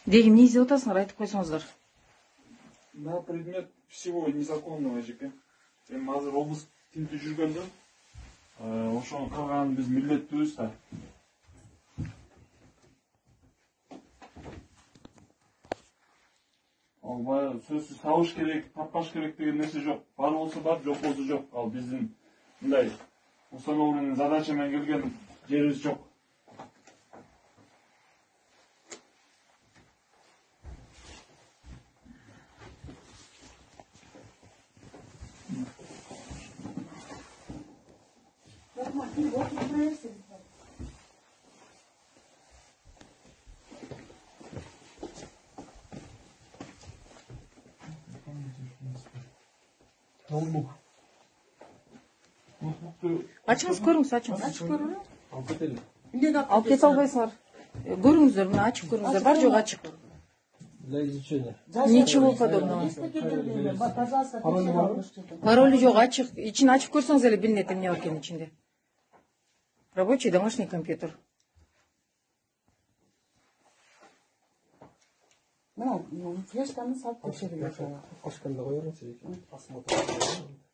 Деги эмне издеп атасыңар, айтып койсоңуздар. На предмет всего незаконного, эжеке. Эми азыр облус тинтүү жүргөндө, ошону кылган биз милдеттүүбүз да. Ал баягы сөзсүз табыш керек, таппаш керек деген нерсе жок. Бар болсо бар, жок болсо жок. Ал биздин мындай установленный задача менен келген жерибиз жок. Ачыңыз, көрүңүз, ачыңыз. Ачып көрөлү. Алып кетели. Алып кете албайсыңар. Көрүңүздөр, мына ачып көрүңүздөр. Бар жок ачык. Для изучения. Ничего подобного. Пожалуйста, Пароли жок, ачык. Ичин ачып көрсөңүз эле билинет эмне бар экени ичинде. Рабочий домашний компьютер. Ну, флешканы салып текшерип. Кошканда коерсиз, посмотрим.